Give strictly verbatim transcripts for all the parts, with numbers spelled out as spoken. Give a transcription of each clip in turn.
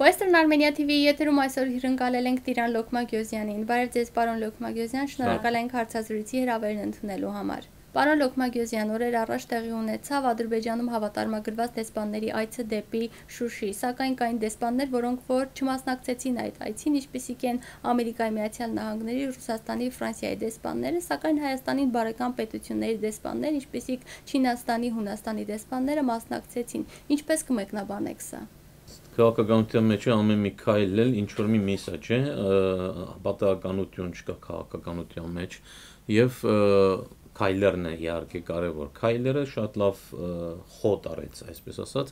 Western Armenia T V-ի եթերում այսօր հյուրընկալել ենք Տիրան Լոքմագյոզյանին։ Բարև ձեզ, պարոն Լոքմագյոզյան, շնորհակալ ենք հարցազրույցի հրավերն ընդունելու համար։ Պարոն Լոքմագյոզյան, օրեր առաջ տեղի ունեցավ Ադրբեջանում հավատարմագրված դեսպանների այցը դեպի Շուշի, սակայն կային դեսպաններ, որոնք որ չմասնակցեցին այդ այցին, ինչպիսիք են Ամերիկայի Միացյալ Նահանգների, Ռուսաստանի, Ֆրանսիայի դեսպանները, սակայն Հայաստանին բարեկամ պետությունների դեսպաններ, ինչպիսիք Չինաստանի, Հունաստանի դեսպանները մասնակցեցին։ Ինչպես կմեկնաբանեք սա։ Քաղաքականության մեջ ամեն մի քայլ էլ ինչ որ մի միսաջ է, պատահականություն չկա քաղաքականության մեջ եւ քայլերն է իհարկե կարևոր։ Քայլերը շատ լավ խոտ արեց, այսպես ասած,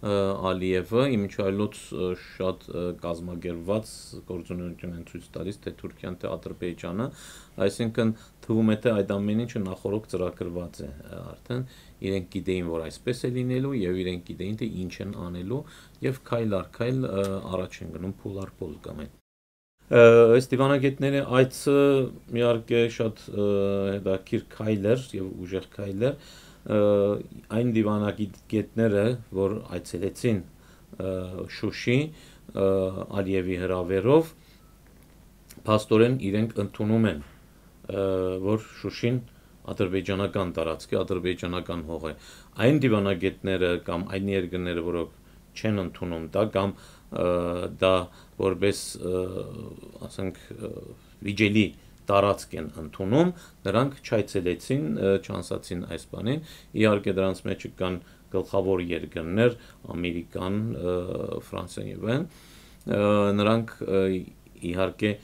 Ալիևը, իմիջայլոց շատ կազմակերպված գործունեություն են ցույց տալիս թե Թուրքիան, թե Ադրբեջանը, այսինքն թվում է թե այդ ամեն ինչը նախորոք ծրագրված է արդեն, իրենք գիտեին, որ այսպես է լինելու եւ իրենք գիտեին թե ինչ են անելու եւ քայլ առ քայլ առաջ են գնում փուլ առ փուլ կամ այդ Այս դիվանագետների այցը իհարկե շատ հետաքրքիր քայլ էր եւ ուժեղ քայլ էր այն դիվանագետները, որ այցելեցին Շուշի Ալիևի հրավերով, փաստորեն իրենք ընդունում են, որ Շուշին ադրբեջանական տարածք է, ադրբեջանական հող է։ Այն դիվանագետները կամ այն երկրները, որոնք չեն ընդունում դա կամ դա որպես ասենք վիճելի տարածք են ընդունում, նրանք չայցելեցին, չանսացին այս բանին, իհարկե դրանց մեջ կան գլխավոր երկրներ, Ամերիկան, Ֆրանսիան եւ այլն, նրանք իհարկե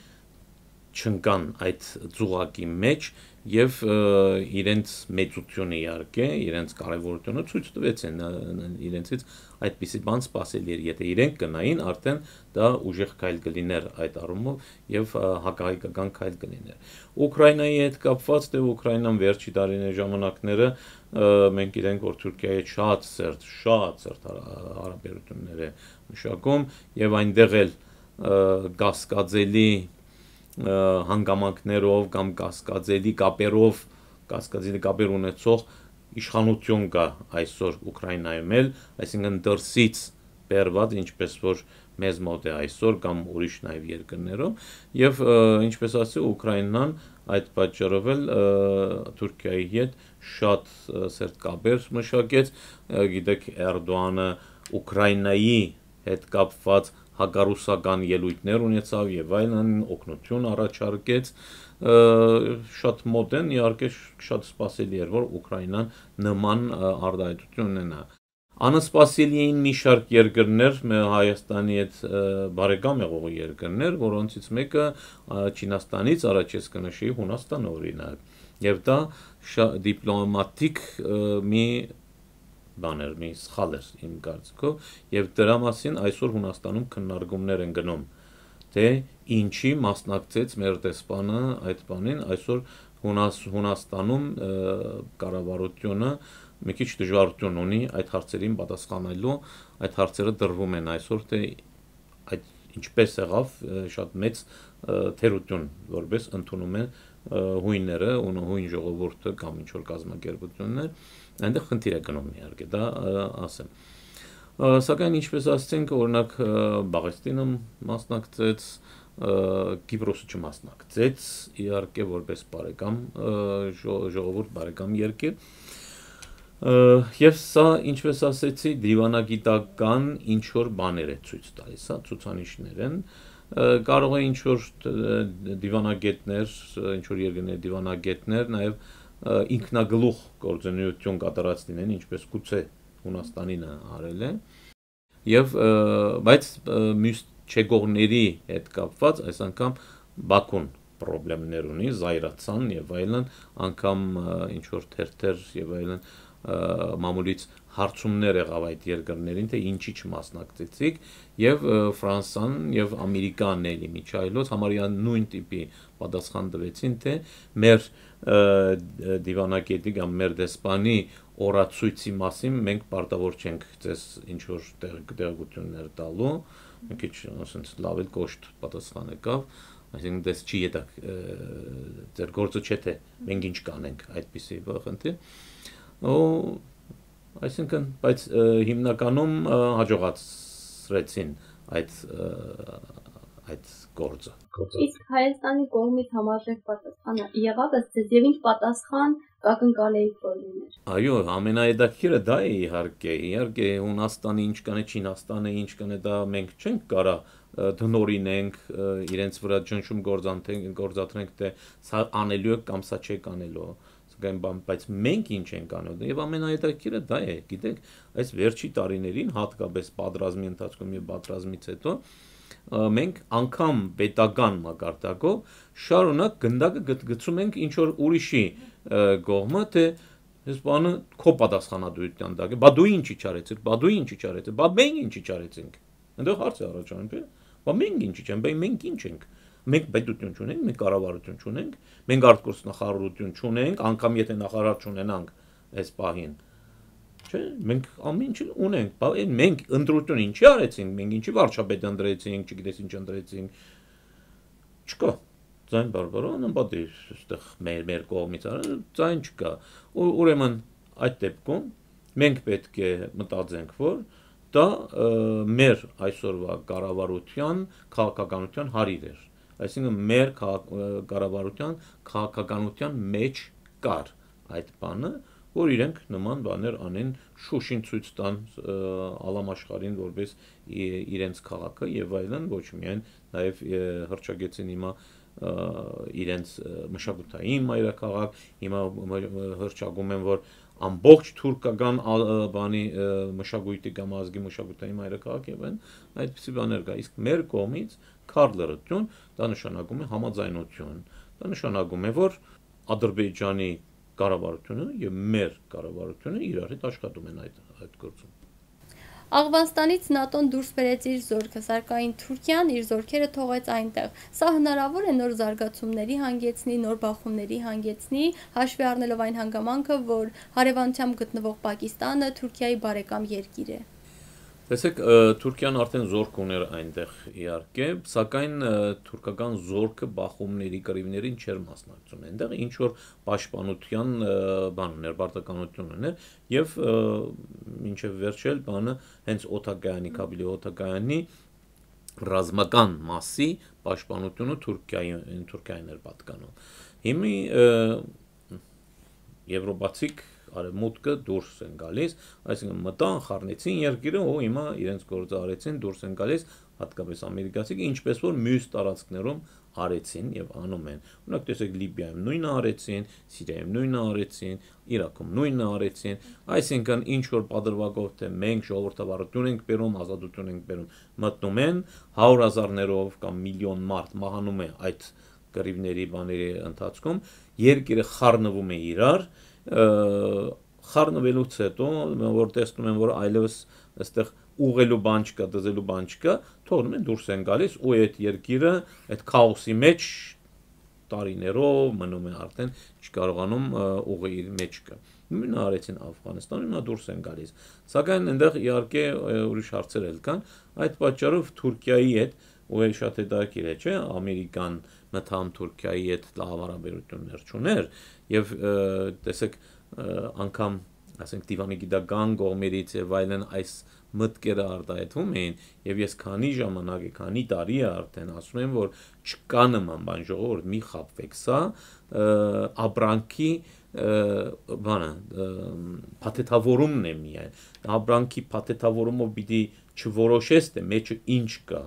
չընկան այդ ծուղակի մեջ եւ իրենց մեծությունը իհարկե, իրենց կարեւորությունը ցույց տվեցին, իրենցից այդպիսի բան սпасելի էր, եթե իրենք գնային, արդեն դա ուժեղ քայլ կլիներ այդ առումով եւ հակահայկական քայլ կլիներ։ Ուկրաինայի հետ կապված, թե Ուկրաինան վերջի տարիների ժամանակները մենք գիտենք, որ Թուրքիայի հետ շատ սերտ, շատ սերտ հարաբերություններ է մշակում եւ այնտեղ էլ կասկածելի հանգամանքներով կամ կասկածելի կապերով, կասկածելի կապեր ունեցող իշխանություն կա այսօր Ուկրաինայում էլ, այսինքն դրսից բերված, ինչպես որ մեզ մոտ է այսօր կամ ուրիշ նաև երկրներում, եւ ինչպես ասի Ուկրաինան այդ պատճառով էլ Թուրքիայի հետ շատ սերտ կապեր մշակեց, գիտեք Էրդողանը Ուկրաինայի հետ կապված հակառուսական ելույթներ ունեցավ եւ այլն օգնություն առաջարկեց շատ մոտ են իհարկե շատ սпасելի էր որ Ուկրաինան նման արտահայտություն ունենա անսպասելի էին մի շարք երկրներ Հայաստանի հետ բարեկամ եղող երկրներ որոնցից մեկը Չինաստանից առաջ ես կնշեի Հունաստանը օրինակ եւ դա դիպլոմատիկ մի բաներ մի սխալ էր իմ կարծիքով եւ դրա մասին այսօր Հունաստանում քննարկումներ են գնում թե ինչի մասնակցեց մեր դեսպանը այդ բանին այսօր Հունաստանում կառավարությունը մի քիչ դժվարություն ունի այդ հարցերին պատասխանելու այդ հարցերը դրվում են այսօր թե այդ ինչպես եղավ շատ մեծ թերություն որպես ընդունում են հույները ու հույն ժողովուրդը կամ ինչ որ կազմակերպություններ այնտեղ խնդիր է գնում իհարկե դա ասեմ սակայն ինչպես ասենք օրինակ Բաղեստինը մասնակցեց Կիպրոսը չմասնակցեց իհարկե որպես բարեկամ ժողովուրդ բարեկամ երկիր եւ սա ինչպես ասեցի դիվանագիտական ինչ որ բաներ է ցույց տալիս հա ցուցանիշներ են կարող է ինչ որ դիվանագետներ ինչ որ երկրների դիվանագետներ նաեւ ինքնագլուխ գործունեություն կատարած լինեն ինչպես գուցե Հունաստանին արել է եւ բայց մյուս չեգողների հետ կապված այս անգամ Բաքուն խնդիրներ ունի զայրացան եւ այլն անգամ ինչ որ թերթեր եւ այլն մամուլից հարցումներ եղավ այդ երկրներին թե ինչի չմասնակցեցիք եւ Ֆրանսան եւ Ամերիկան էլի միջայլոց համարյա նույն տիպի պատասխան տվեցին թե մեր դիվանագետի կամ մեր դեսպանի օրացույցի մասին մենք պարտավոր չենք ձեզ ինչ որ տեղեկություններ տալու մի քիչ ասենց լավ էլ կոշտ պատասխան եկավ այսինքն դες չի դա ձեր գործը չէ թե մենք ինչ կանենք այդպիսի խնդիր ու այսինքն բայց հիմնականում հաջողացրեցին այդ այդ գործը։ Իսկ Հայաստանի կողմից համարժեք պատասխանը եղավ ըստ եւ ինչ պատասխան կակնկալեիք որ լիներ։ Այո, ամենահետաքրքիրը դա է իհարկե, իհարկե Հունաստանը ինչ կանը, Չինաստանը ինչ կանը, դա մենք չենք կարա դնորինենք իրենց վրա ճնշում գործադրենք, թե սա անելու է կամ սա չեք անելու, սակայն բայց մենք ինչ ենք անում, եւ ամենահետաքրքիրը դա է, գիտեք, այս վերջի տարիներին հատկապես պատերազմի ընթացքում եւ պատերազմից հետո մենք անգամ պետական մակարդակով շարունակ գնդակը գցում ենք ինչ որ ուրիշի կողմը, թե այս բանը քո պատասխանատվության տակ է, բա դու ինչի չարեցիր, բա դու ինչի չարեցիր, բա մենք ինչի չարեցինք։ Այնտեղ հարց է առաջանում, բա մենք ինչի չենք, բա մենք ինչ ենք։ Մենք պետություն չունենք, մենք կառավարություն չունենք, մենք արտգործ նախարարություն չունենք, անգամ եթե նախարար չունենանք այս պահին։ Չէ, մենք ամեն ինչ ունենք, բա մենք ընտրություն ինչի արեցինք, մենք ինչի վարչապետ ընտրեցինք, չգիտես ինչ ընտրեցինք։ Չկա։ Ձայն բարբարոն անպատիժ, այստեղ մեր մեր կողմից արել, ձայն չկա։ Ուրեմն այդ դեպքում մենք պետք է մտածենք, որ դա մեր այսօրվա կառավարության քաղաքականության հարիր էր։ Այսինքն մեր կառավարության քաղաքականության մեջ կար այդ բանը, որ իրենք նման բաներ անեն, Շուշին ցույց տան ալամաշխարհին որպես իրենց քաղաքը եւ այլն, ոչ միայն նաեւ հրճագեցին հիմա իրենց մշակութային մայրաքաղաք, հիմա հրճագում են, որ ամբողջ թուրքական բանի մշակույթի կամ ազգի մշակութային մայրաքաղաք եւ այն այդպիսի բաներ կա, իսկ մեր կողմից քարլերություն դա նշանակում է համաձայնություն, դա նշանակում է, որ Ադրբեջանի կառավարությունը եւ մեր կառավարությունը իրար հետ աշխատում են այդ այդ գործում։ Աղվանստանից ՆԱՏՕ-ն դուրս բերեց իր զորքը, սակայն Թուրքիան իր զորքերը թողեց այնտեղ։ Սա հնարավոր է նոր զարգացումների հանգեցնի, նոր բախումների հանգեցնի, հաշվի առնելով այն հանգամանքը, որ հարևանությամբ գտնվող Պակիստանը Թուրքիայի բարեկամ երկիր է։ Տեսեք, Թուրքիան արդեն զորք ուներ այնտեղ իհարկե, սակայն թուրքական զորքը բախումների, կռիվներին չէր մասնակցում։ Այնտեղ ինչ որ պաշտպանության բան ուներ, պարտականություն ուներ եւ մինչեւ վերջել բանը հենց օթակայանի, Քաբիլի օթակայանի ռազմական մասի պաշտպանությունը Թուրքիային Թուրքիային էր պատկանում։ Հիմի եվրոպացիք արևմուտքը դուրս են գալիս, այսինքն մտան, խառնեցին երկիրը, ու հիմա իրենց գործը արեցին, դուրս են գալիս, հատկապես ամերիկացիք, ինչպես որ մյուս տարածքներում արեցին եւ անում են։ Օրինակ տեսեք Լիբիայում նույնը արեցին, Սիրիայում նույնը արեցին, Իրաքում նույնը արեցին, այսինքն ինչ որ պատրվակով թե մենք ժողովրդավարություն ենք բերում, ազատություն ենք բերում, մտնում են հարյուր հազարներով կամ միլիոն մարդ մահանում է այդ կռիվների բաների ընթացքում, երկիրը խառնվում է իրար, խառնվելուց հետո որ տեսնում են որ այլևս այստեղ ուղղելու բան չկա, դզելու բան չկա, թողնում են դուրս են գալիս ու այդ երկիրը այդ քաոսի մեջ տարիներով մնում է արդեն չկարողանում ուղղի մեջ կա։ Նույնը արեցին Աֆղանստանում, նա դուրս են գալիս։ Սակայն այնտեղ իհարկե ուրիշ հարցեր էլ կան, այդ պատճառով Թուրքիայի հետ ու շատ հետաքրքիր է, չէ՞, Ամերիկան մտամ Թուրքիայի հետ լավ հարաբերություններ չուներ եւ տեսեք անգամ ասենք դիվանի գիտական կողմերից եւ այլն այս մտքերը արտահայտվում էին եւ ես քանի ժամանակ է քանի տարի է արդեն ասում եմ որ չկա նման բան ժողովուրդ մի խապվեք սա ապրանքի բանը փաթեթավորումն է միայն ապրանքի փաթեթավորումով պիտի չորոշես թե մեջը ինչ կա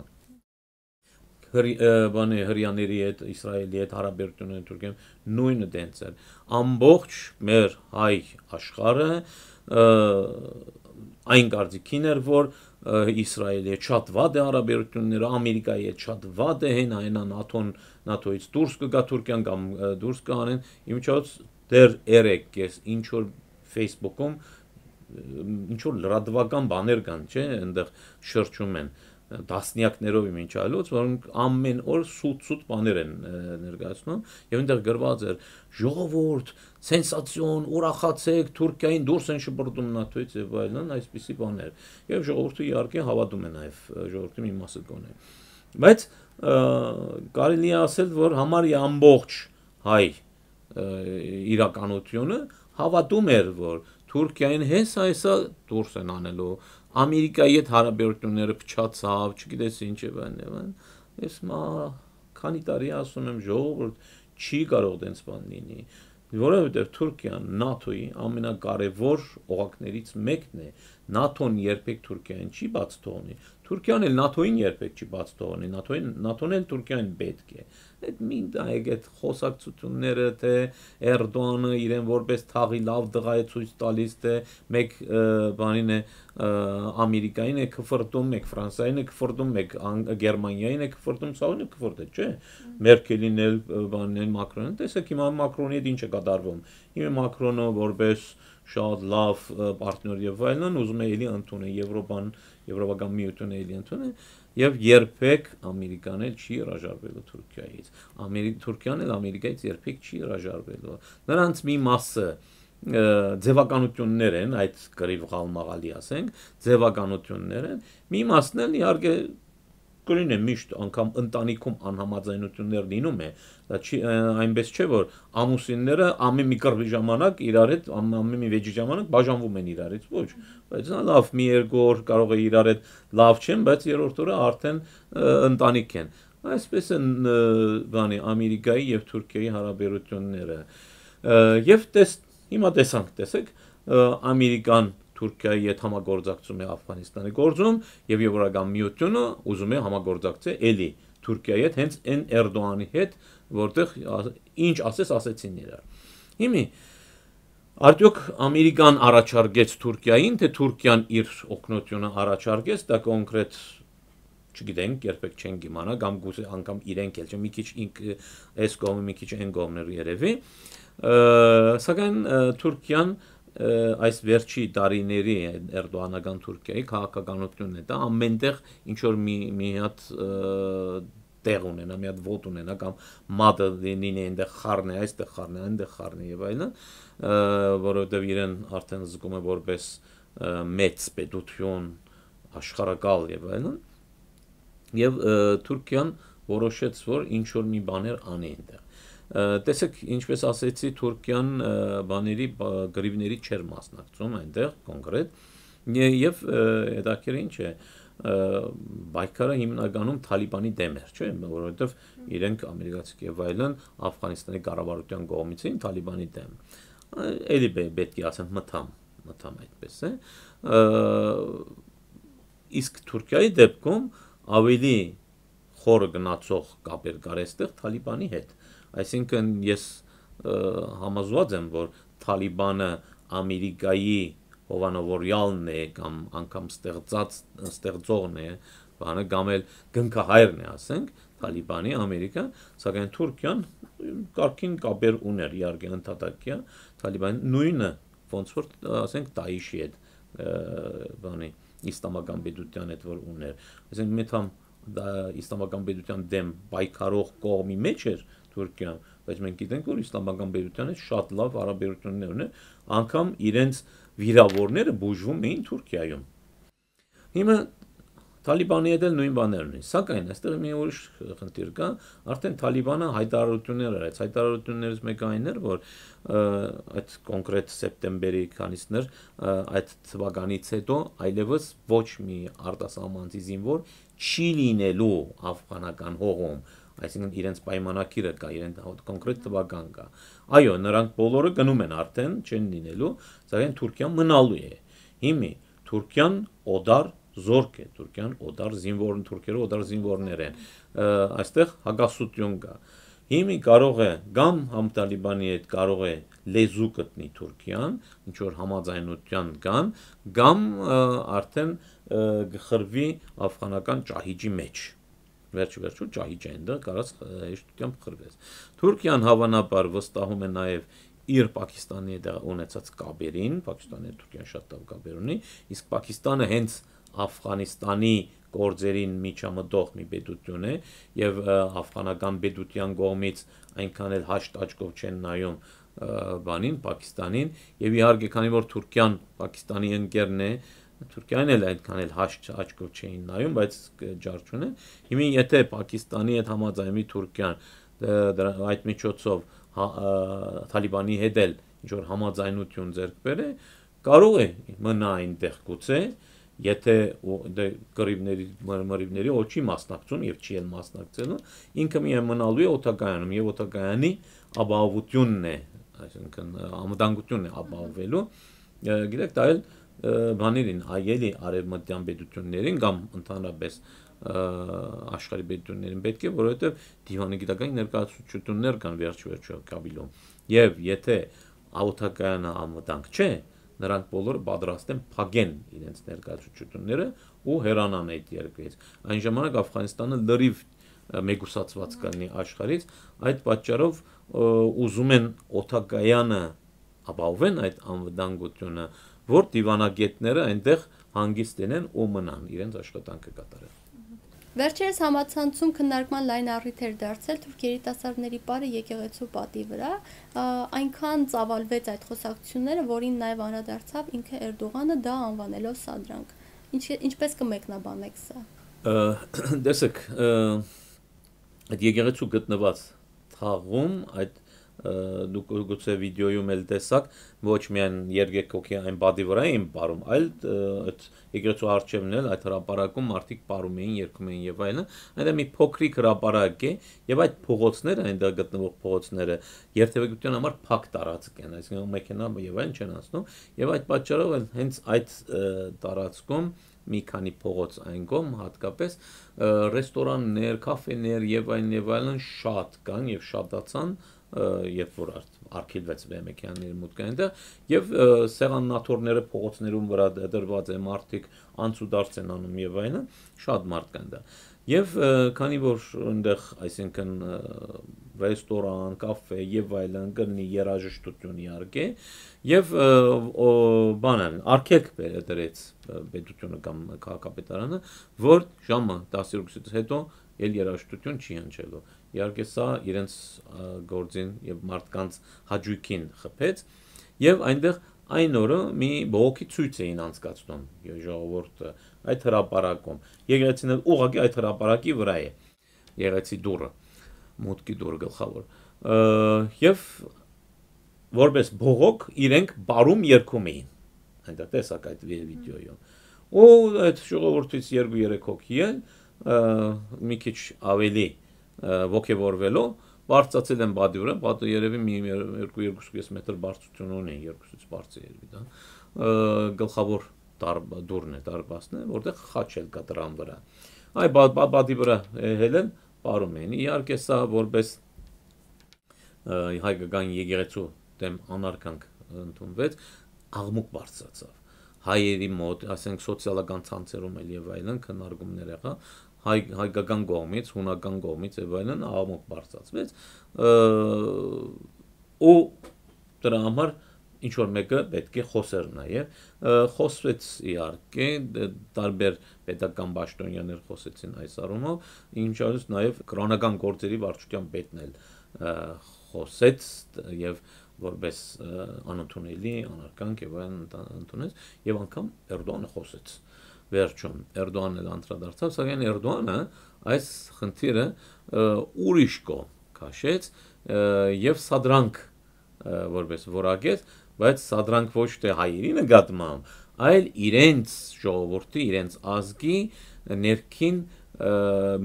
բանի հрьяաների հետ Իսրայելի հետ հարաբերությունները Թուրքիայում նույնը դենց էր ամբողջ մեր հայ աշխարհը այն կարծիքին էր որ Իսրայելի հետ շատ վատ է հարաբերությունները Ամերիկայի հետ շատ վատ է հեն այնա ՆԱՏՕ-ն ՆԱՏՕ-ից դուրս կգա Թուրքիան կամ դուրս կանեն իմիջիայլոց դեռ երեք ես ինչ որ Facebook-ում ինչ որ լրատվական բաներ կան չէ այնտեղ շրջում են դասնյակներով իմիջիայլոց, որոնք ամեն օր սուտ-սուտ բաներ են ներկայացնում, եւ այնտեղ գրված էր ժողովուրդ, սենսացիոն, ուրախացեք, Թուրքիային դուրս են շպրտում ՆԱՏՕ-ից եւ այլն, այսպիսի բաներ։ Եվ ժողովուրդը իհարկե հավատում է նաեւ ժողովրդի մի մասը կոնե։ Բայց կարելի է ասել, որ համարյա ամբողջ հայ իրականությունը հավատում էր, որ Թուրքիային հեսա հեսա դուրս են անելու Ամերիկայի հետ հարաբերությունները փչացավ, չգիտես ինչ է բան։ Ես մա քանի տարի ասում եմ ժողովուրդ չի կարող դենց բան լինի, որովհետև Թուրքիան ՆԱՏՕ-ի ամենակարևոր օղակներից մեկն է։ ՆԱՏՕ-ն երբեք Թուրքիային չի բաց թողնի։ Թուրքիան էլ ՆԱՏՕ-ին երբեք չի բաց թողնի, ՆԱՏՕ-ին ՆԱՏՕ-ն էլ Թուրքիային պետք է։ Այդ մին դայեք այդ խոսակցությունները թե Էրդողանը իրեն որպես թաղի լավ դղա է ցույց տալիս, թե մեկ բանին է Ամերիկային է քֆրտում, մեկ Ֆրանսիային է քֆրտում, մեկ Գերմանիային է քֆրտում, սա ունի քֆրտը, չէ։ Մերկելին էլ բանին Մակրոնին, տեսեք հիմա Մակրոնի հետ ինչ է կատարվում։ Հիմա Մակրոնը որպես շատ լավ պարտներ եւ այլն ուզում է էլի ընդունել Եվրոպան, Եվրոպական միությունը էլի ընդունել եւ երբեք Ամերիկան էլ չի հրաժարվելու Թուրքիայից։ Ամերիկ Թուրքիան էլ Ամերիկայից երբեք չի հրաժարվելու։ Նրանց մի մասը ձևականություններ են, այդ գրիվ գալմաղալի ասենք, ձևականություններ են, մի մասն էլ իհարկե կրին է միշտ անգամ ընտանիքում անհամաձայնություններ լինում է, դա չի այնպես չէ որ ամուսինները ամեն մի կռվի ժամանակ իրար հետ ամեն մի վեճի ժամանակ բաժանվում են իրարից, ոչ, բայց նա լավ մի երկու օր կարող է իրար հետ լավ չեն, բայց երրորդ օրը արդեն ընտանիք են։ Այսպես են բանի Ամերիկայի եւ Թուրքիայի հարաբերությունները։ Եվ տես Հիմա տեսանք, տեսեք, Ամերիկան Թուրքիայի հետ համագործակցում է Աֆղանստանի գործում եւ Եվրոպական միությունը ուզում է համագործակցել էլի Թուրքիայի հետ, հենց այն Էրդողանի հետ, որտեղ ինչ ասես ասեցին իրար։ Հիմա արդյոք Ամերիկան առաջարկեց Թուրքիային, թե Թուրքիան իր օգնությունը առաջարկեց, դա կոնկրետ չգիտենք, երբեք չենք իմանա, կամ գուցե անգամ իրենք էլ, մի քիչ այս կողմը, մի քիչ այն կողմներ երևի։ Սակայն Թուրքիան այս վերջի տարիների Էրդողանական Թուրքիայի քաղաքականությունն է, դա ամենտեղ ինչ որ մի մի հատ տեղ ունենա, մի հատ ոտ ունենա կամ մատը լինի այնտեղ խառն է, այստեղ խառն է, այնտեղ խառն է եւ այլն, որովհետեւ իրեն արդեն զգում է որպես մեծ պետություն, աշխարհակալ եւ այլն, եւ Թուրքիան որոշեց, որ ինչ որ մի բաներ անի այնտեղ։ Տեսեք, ինչպես ասեցի, Թուրքիան բաների գրիվների չեր մասնակցում այնտեղ կոնկրետ եւ հետաքրքիր ինչ է բայկարը հիմնականում Թալիբանի դեմ էր, չէ՞, որովհետեւ իրենք ամերիկացիք եւ այլն Աֆղանստանի կառավարության կողմից էին Թալիբանի դեմ։ Էլի պետք է ասեմ մտամ, մտամ այդպես է։ Իսկ Թուրքիայի դեպքում ավելի խորը գնացող կապեր կար այստեղ Թալիբանի հետ։ Այսինքն ես համոզված եմ, որ Թալիբանը Ամերիկայի հովանավորյալն է կամ անգամ ստեղծած ստեղծողն է, բանը կամ էլ գնքահայրն է, ասենք, Թալիբանի Ամերիկա, սակայն Թուրքիան կարգին կապեր ուներ, իհարկե ընդհատակյա Թալիբանի նույնը ոնց որ ասենք Դաիշի հետ բանի իսլամական պետության հետ որ ուներ։ Այսինքն մետամ դա իսլամական պետության դեմ պայքարող կողմի մեջ էր Թուրքիան, բայց մենք գիտենք, որ իսլամական պետությանը շատ լավ հարաբերություններ ունեն, անգամ իրենց վիրավորները բուժվում էին Թուրքիայում։ Հիմա Թալիբանի հետ էլ նույն բաներն են, սակայն այստեղ մի ուրիշ խնդիր կա, արդեն Թալիբանը հայտարարություններ արեց, հայտարարություններից մեկը այն էր, որ այդ կոնկրետ սեպտեմբերի քանիսներ այդ թվականից հետո այլևս ոչ մի արտասահմանցի զինվոր չի լինելու աֆղանական հողում, այսինքն իրենց պայմանակիրը կա, իրենց կոնկրետ թվական կա։ Այո, նրանք բոլորը գնում են արդեն, չեն լինելու, սակայն Թուրքիան մնալու է։ Հիմա Թուրքիան օդար զորք է, Թուրքիան օդար զինվոր, թուրքերը օդար զինվորներ են։ Այստեղ հակասություն կա։ Հիմա կարող է կամ համ Թալիբանի հետ կարող է լեզու գտնի Թուրքիան, ինչ որ համաձայնության կան, կամ արդեն գխրվի աֆղանական ճահիճի մեջ։ Վերջ վերջու ճահիճ է այնտեղ կարած հեշտությամբ խրվեց։ Թուրքիան հավանաբար վստահում է նաև իր Պակիստանի հետ ունեցած կապերին, Պակիստանի հետ Թուրքիան շատ լավ կապեր ունի, իսկ Պակիստանը հենց Աֆղանստանի գործերին միջամտող մի պետություն է եւ աֆղանական պետության կողմից այնքան էլ հաշտ աչքով չեն նայում բանին Պակիստանին եւ իհարկե քանի որ Թուրքիան Պակիստանի ընկերն է, Թուրքիան էլ այնքան էլ հաշտ աչքով չէին նայում, բայց ջար չունեն։ Հիմա եթե Պակիստանի հետ համաձայնվի Թուրքիան այդ միջոցով Թալիբանի հետ էլ ինչ որ համաձայնություն ձեռք բերե, կարող է մնա այնտեղ գուցե եթե դե կռիվների մրմրիվների օչի մասնակցում եւ չի էլ մասնակցելու, ինքը միայն մնալու է օտակայանում եւ օտակայանի ապահովությունն է, այսինքն անվտանգությունն է ապահովելու, գիտեք, դա էլ բաներին այելի արևմտյան պետություններին կամ ընդհանրապես աշխարհի պետություններին պետք է, որովհետեւ դիվանի գիտական ներկայացություններ կան վերջ-վերջո Կաբիլում եւ եթե օտակայանը անվտանգ չէ, նրանք բոլորը պատրաստ են փակեն իրենց ներկայացությունները ու հեռանան այդ երկրից։ Այն ժամանակ Աֆղանստանը լրիվ մեգուսացված կլինի աշխարհից, այդ պատճառով ուզում են օտակայանը ապահովեն այդ անվտանգությունը, որ դիվանագետները այնտեղ հանգիստ լինեն ու մնան իրենց աշխատանքը կատարեն։ Վերջերս համացանցում քննարկման լայն առիթ էր դարձել թուրք երիտասարդների պարը եկեղեցու պատի վրա, այնքան ծավալվեց այդ խոսակցությունները, որին նաև անդրադարձավ ինքը Էրդողանը, դա անվանելով սադրանք։ Ինչպես կմեկնաբանեք սա։ Տեսեք, այդ եկեղեցու գտնված թաղում այդ դուք գուցե վիդեոյում էլ տեսաք, ոչ միայն երգեքոքի այն բադի վրա էին պարում, այլ այդ եկեղեցու առջևն էլ այդ հրապարակում մարդիկ պարում էին, երգում էին եւ այլն, այնտեղ մի փոքրիկ հրապարակ է եւ այդ փողոցները, այնտեղ գտնվող փողոցները երթևեկության համար փակ տարածք են, այսինքն մեքենա եւ այլն չեն անցնում եւ այդ պատճառով հենց այդ տարածքում մի քանի փողոց այն կողմ հատկապես ռեստորաններ, կաֆեներ եւ այլն եւ այլն շատ կան եւ շատացան երբ որ արգելվեց մեքենաների մուտքը այնտեղ եւ սեղաննաթորները փողոցներում վրա դրված է մարդիկ անցուդարձ են անում եւ այլն շատ մարդ կան դա եւ քանի որ այնտեղ այսինքն ռեստորան, կաֆե եւ այլն կլինի երաժշտություն իհարկե եւ բանան արգելք դրեց պետությունը կամ քաղաքապետարանը որ ժամը տասնյոթից հետո ել երաժշտություն չի հնչելու իհարկե սա իրենց գործին եւ մարդկանց հաճույքին խփեց եւ այնտեղ այն օրը մի բողոքի ցույց էին անցկացնում ժողովուրդը այդ հրապարակում եկեղեցին էլ ուղղակի այդ հրապարակի վրա է եկեղեցի դուռը մուտքի դուռը գլխավոր եւ որպես բողոք իրենք բարում երգում էին այնտեղ տեսակ այդ վիդեոյում ու այդ ժողովրդից երկու-երեք հոգի են մի քիչ ավելի ոգևորվելով բարձրացել են բադի վրա, բադը երևի մի երկու-երկու մետր բարձրություն ունի, երկուսից բարձր երևի դա, գլխավոր դուռն է, դարպասն է, որտեղ խաչ էլ կա դրան վրա։ Այ բադի վրա հելեն պարում են, իհարկե սա որպես հայկական եկեղեցու դեմ անարգանք ընդունվեց, աղմուկ բարձրացավ։ Հայերի մոտ, ասենք սոցիալական ցանցերում էլ եւ այլն քննարկումներ եղա, հայ հայկական կողմից, հունական կողմից եւ այլն աղմուկ բարձրացվեց ու դրա համար ինչ որ մեկը պետք է խոսեր նաեւ խոսվեց իհարկե տարբեր պետական պաշտոնյաներ խոսեցին այս առումով ինչպես նաեւ կրոնական գործերի վարչության պետն էլ խոսեց եւ որպես անընդունելի անարգանք եւ այլն ընդունեց եւ անգամ Էրդողանը խոսեց վերջում Էրդողանն էլ անդրադարձավ, սակայն Էրդողանը այս խնդիրը ուրիշ կողմ քաշեց եւ սադրանք որպես որակեց, բայց սադրանք ոչ թե հայերի նկատմամբ, այլ իրենց ժողովրդի, իրենց ազգի ներքին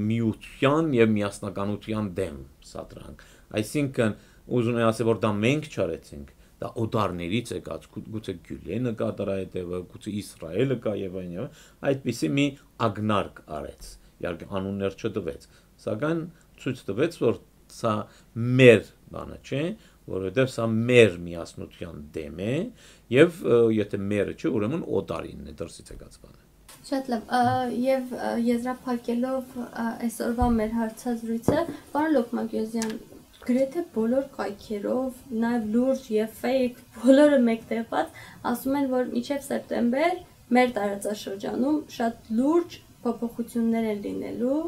միության եւ միասնականության դեմ սադրանք։ Այսինքն ուզում եմ ասել, որ դա մենք չարեցինք, դա օտարներից եկած, գուցե Գյուլենը կա դրա հետևը, գուցե Իսրայելը կա եւ այլն, այդպիսի մի ագնարկ արեց, իհարկե անուններ չտվեց, սակայն ցույց տվեց, որ սա մեր բանը չէ, որովհետեւ սա մեր միասնության դեմ է եւ եթե մերը չէ, ուրեմն օտարինն է, դրսից եկած բանը։ Շատ լավ, եւ եզրափակելով այսօրվա մեր հարցազրույցը, պարոն Լոկմագյուզյան, գրեթե բոլոր կայքերով, նաև լուրջ եւ ֆեյք, բոլորը մեկտեղված, ասում են, որ մինչեւ սեպտեմբեր մեր տարածաշրջանում շատ լուրջ փոփոխություններ են լինելու,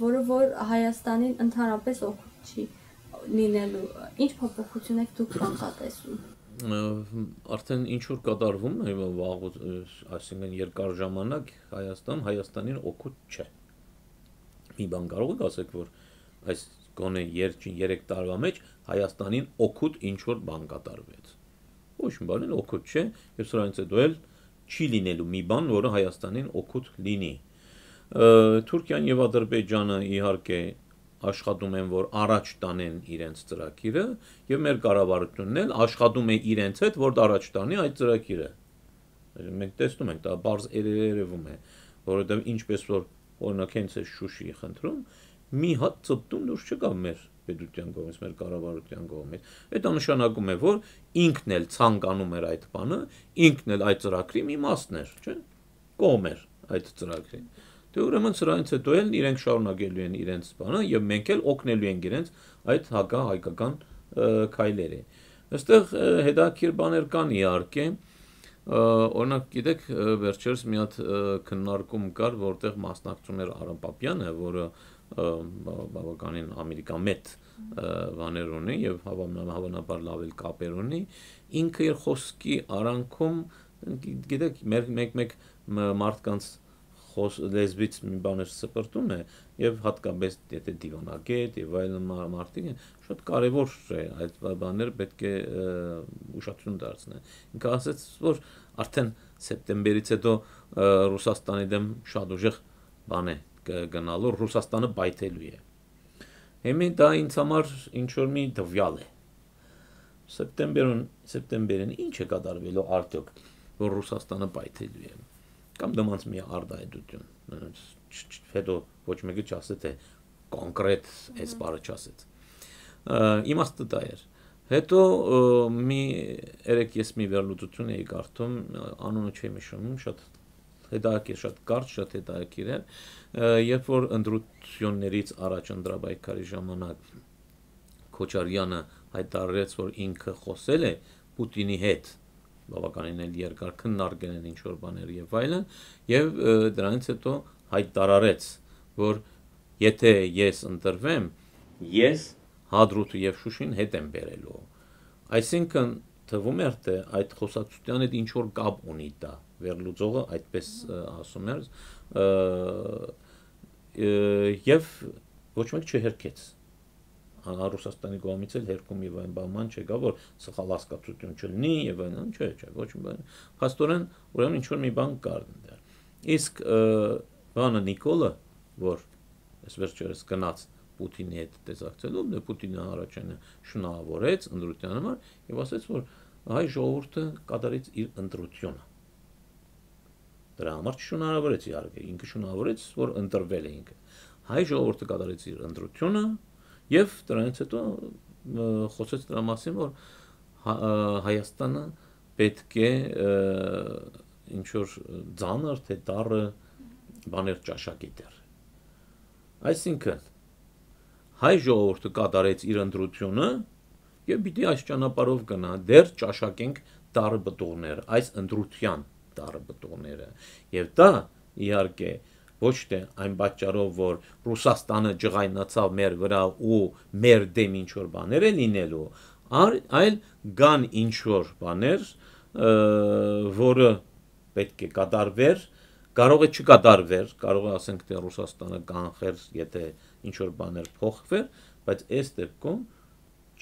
որը որ Հայաստանին ընդհանրապես օգուտ չի լինելու։ Ինչ փոփոխություն եք դուք կանխատեսում։ Արդեն ինչ որ կատարվում է վաղուց, այսինքն երկար ժամանակ Հայաստան Հայաստանին օգուտ չէ։ Մի բան կարող եք ասեք, որ այս գոնե երեք տարվա մեջ Հայաստանին օգուտ ինչ որ բան կատարվեց։ Ոչ մի բան օգուտ չէ, եւ սրանից հետո էլ չի լինելու մի բան, որը Հայաստանին օգուտ լինի։ Թուրքիան եւ Ադրբեջանը իհարկե աշխատում են, որ առաջ տանեն իրենց ծրագիրը, եւ մեր կառավարությունն էլ աշխատում է իրենց հետ, որ առաջ տանի այդ ծրագիրը։ Մենք տեսնում ենք, դա բարձ երևում է, որովհետեւ ինչպես որ օրինակ հենց է Շուշիի խնդրում, մի հատ ծպտում դուրս չկա մեր պետության կողմից, մեր կառավարության կողմից։ Դա նշանակում է, որ ինքն էլ ցանկանում էր այդ բանը, ինքն էլ այդ ծրագրի մի մասն էր, չէ՞։ Կողմ էր այդ ծրագրին։ Դե ուրեմն սրանից հետո էլ իրենք շարունակելու են իրենց բանը եւ մենք էլ օգնելու ենք իրենց այդ հակահայկական քայլերի։ Այստեղ հետաքրքիր բաներ կան իհարկե, օրինակ գիտեք, վերջերս մի հատ քննարկում կար, որտեղ մասնակցում էր Արամ Պապյանը, որը բավականին ամերիկամետ բաներ ունի եւ հավանաբար լավ էլ կապեր ունի, ինքը իր խոսքի արանքում, գիտեք, մեկ-մեկ մարդկանց լեզվից մի բաներ սպրտում է եւ հատկապես եթե դիվանագետ եւ այլն մարդիկ են, շատ կարեւոր է այդ բաները պետք է ուշադրություն դարձնել։ Ինքը ասաց, որ արդեն սեպտեմբերից հետո Ռուսաստանի դեմ շատ ուժեղ բան է գնալու, Ռուսաստանը բայթելու է։ Հիմա դա ինձ համար ինչ որ մի դվյալ է։ Սեպտեմբերին, սեպտեմբերին ինչ է կատարվելու արդյոք, որ Ռուսաստանը բայթելու է։ Կամ դրանց մի արդայդություն, հետո ոչ մեկը չասե թե կոնկրետ այս բառը չասեց։ Իմաստը դա էր։ Հետո մի երեք ես մի վերլուծություն էի կարդում, անունը չեմ հիշում, շատ հետաքրքիր, շատ կարճ, շատ հետաքրքիր էր, երբ որ ընտրություններից առաջ ընտրաբայքարի ժամանակ Քոչարյանը հայտարարեց, որ ինքը խոսել է Պուտինի հետ, բավականին էլ երկար քննարկել են ինչ-որ բաներ եւ այլն, եւ դրանից հետո հայտարարեց, որ եթե ես ընտրվեմ, ես Հադրութը եւ Շուշին հետ եմ բերելու։ Այսինքն թվում էր, թե այդ խոսակցության հետ ինչ որ կապ ունի դա, վերլուծողը այդպես ասում էր, եւ ոչ մեկ չհերքեց։ Ռուսաստանի կողմից էլ հերքում եւ այն բան չկա, որ սխալ հասկացություն չլինի եւ այլն, չէ, չէ, ոչ մի բան։ Փաստորեն, ուրեմն ինչ որ մի բան կար դեռ։ Իսկ բանը Նիկոլը, որ այս վերջերս գնաց Պուտինի հետ տեսակցելու, դե Պուտինը առաջինը շնորհավորեց ընտրության համար եւ ասաց, որ հայ ժողովուրդը կատարեց իր ընտրությունը։ Դրա համար չշնորհավորեց իհարկե, ինքը շնորհավորեց, որ ընտրվել է ինքը։ Հայ ժողովուրդը կատարեց իր ընտրությունը եւ դրանից հետո խոսեց դրա մասին, որ Հայաստանը պետք է ինչ որ ծանր թե դառը բաներ ճաշակի դեր։ Այսինքն հայ ժողովուրդը կատարեց իր ընտրությունը եւ պիտի այս ճանապարհով գնա, դեռ ճաշակենք դառը բտուղներ, այս ընտրության դառը բտուղները։ Եվ դա իհարկե ոչ թե այն պատճառով, որ Ռուսաստանը ջղայնացավ մեր վրա ու մեր դեմ ինչ որ բաներ է լինելու, այլ կան ինչ որ բաներ, որը պետք է կատարվեր, կարող է չկատարվեր, կարող է ասենք թե Ռուսաստանը կանխեր, եթե ինչ որ բաներ փոխվեր, բայց այս դեպքում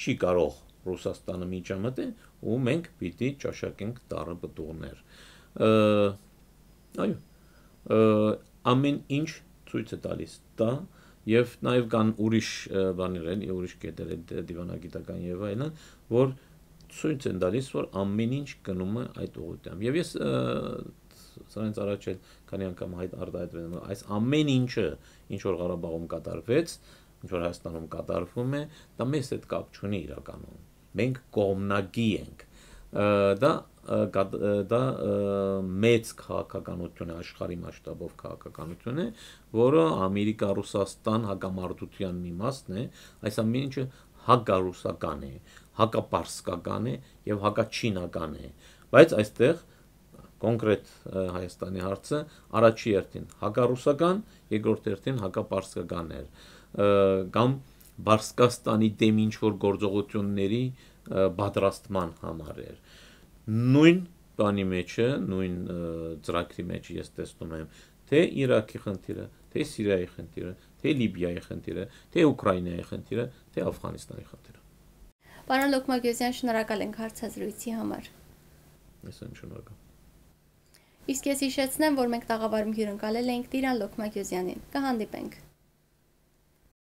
չի կարող Ռուսաստանը միջամտել ու մենք պիտի ճաշակենք դառը բտուղներ։ Այո, ամեն ինչ ցույց է տալիս դա եւ նաեւ կան ուրիշ բաներ են, ուրիշ կետեր են դիվանագիտական եւ այլն, որ ցույց են տալիս, որ ամեն ինչ գնում է այդ ուղղությամբ։ Եվ ես սրանից առաջ էլ քանի անգամ հայտ արտահայտվել եմ, այս ամեն ինչը, ինչ որ Ղարաբաղում կատարվեց, ինչ որ Հայաստանում կատարվում է, դա մեզ հետ կապ չունի իրականում։ Մենք կողմնակի ենք։ Դա դա մեծ քաղաքականություն է, աշխարհի մասշտաբով քաղաքականություն է, որը Ամերիկա-Ռուսաստան հակամարտության մի մասն է, այս ամեն ինչը հակառուսական է, հակապարսկական է եւ հակաչինական է, բայց այստեղ կոնկրետ Հայաստանի հարցը առաջի հերթին հակառուսական, երկրորդ հերթին հակապարսկական էր, կամ Բարսկաստանի դեմ ինչ որ գործողությունների պատրաստման համար էր։ Նույն բանի մեջ է, նույն ծրագրի մեջ ես տեսնում եմ, թե Իրաքի խնդիրը, թե Սիրիայի խնդիրը, թե Լիբիայի խնդիրը, թե Ուկրաինայի խնդիրը, թե Աֆղանստանի խնդիրը։ Պարոն Լոկմագյոսյան, շնորհակալ ենք հարցազրույցի համար։ Ես եմ շնորհակալ։ Իսկ ես հիշեցնեմ, որ մենք տաղավարում հյուրընկալել էինք Տիրան Լոքմագյուզյանին։ Կհանդիպենք։